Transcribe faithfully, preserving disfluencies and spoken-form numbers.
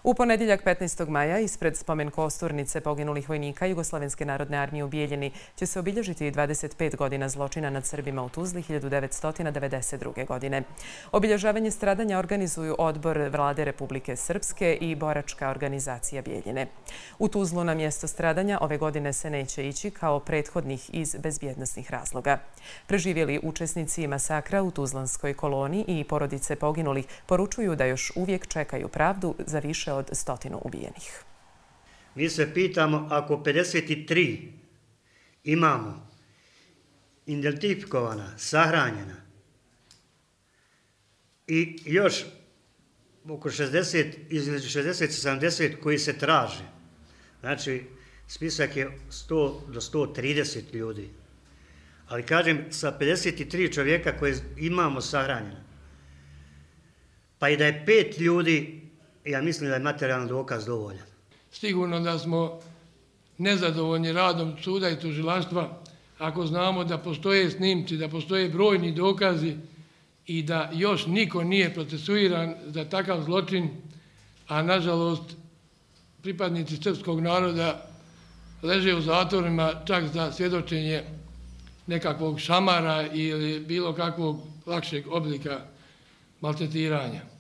U ponedjeljak petnaestog maja ispred spomen kosturnice poginulih vojnika Jugoslavenske narodne armije u Bijeljini će se obilježiti dvadeset pet godina zločina nad Srbima u Tuzli hiljadu devetsto devedeset druge. godine. Obilježavanje stradanja organizuju Odbor Vlade Republike Srpske i Boračka organizacija Bijeljine. U Tuzlu na mjesto stradanja ove godine se neće ići kao prethodnih iz bezbjednosnih razloga. Preživjeli učesnici masakra u Tuzlanskoj koloni i porodice poginulih poručuju da još uvijek čekaju pravdu za više od stotinu ubijenih. Mi se pitamo, ako pedeset tri imamo identifikovana, sahranjena i još oko šezdeset, između šezdeset i sedamdeset koji se traže, znači spisak je sto do sto trideset ljudi. Ali kažem, sa pedeset tri čovjeka koje imamo sahranjena, pa i da je pet ljudi, ja mislim da je materijalni dokaz dovoljan. Sigurno da smo nezadovoljni radom suda i tužilaštva ako znamo da postoje snimci, da postoje brojni dokazi i da još niko nije procesuiran za takav zločin, a nažalost pripadnici srpskog naroda leže u zatvorima čak za svjedočenje nekakvog šamara ili bilo kakvog lakšeg oblika maltretiranja.